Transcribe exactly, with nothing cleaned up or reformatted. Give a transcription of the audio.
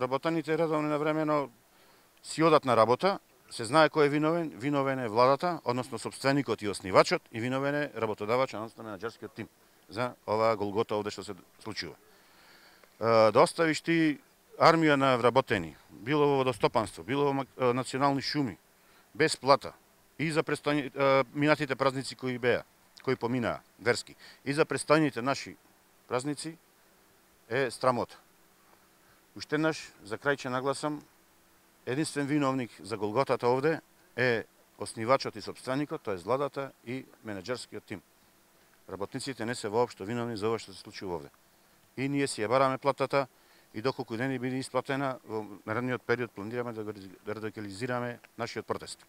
вработените редовно на времено си одат на работа, се знае кој е виновен, виновен е владата, односно собственикот и основачот, и виновен е работодавачот, односно менаџерскиот тим за оваа голгота овде што се случува. Да оставиш ти армија на вработени, било во водостопанство, било во национални шуми, без плата, и за престојни, минатите празници кои беа, кои поминаа, верски, и за престојните наши празници, е страмота. Уште еднаш, за крај ќе нагласам, единствен виновник за голготата овде е основачот и собственикот, тоа е владата и менаџерскиот тим. Работниците не се воопшто виновни за ова што се случува овде. И ние си ја бараме платата и доколку не ни биде исплатена, во наредниот период планираме да го радикализираме нашиот протест.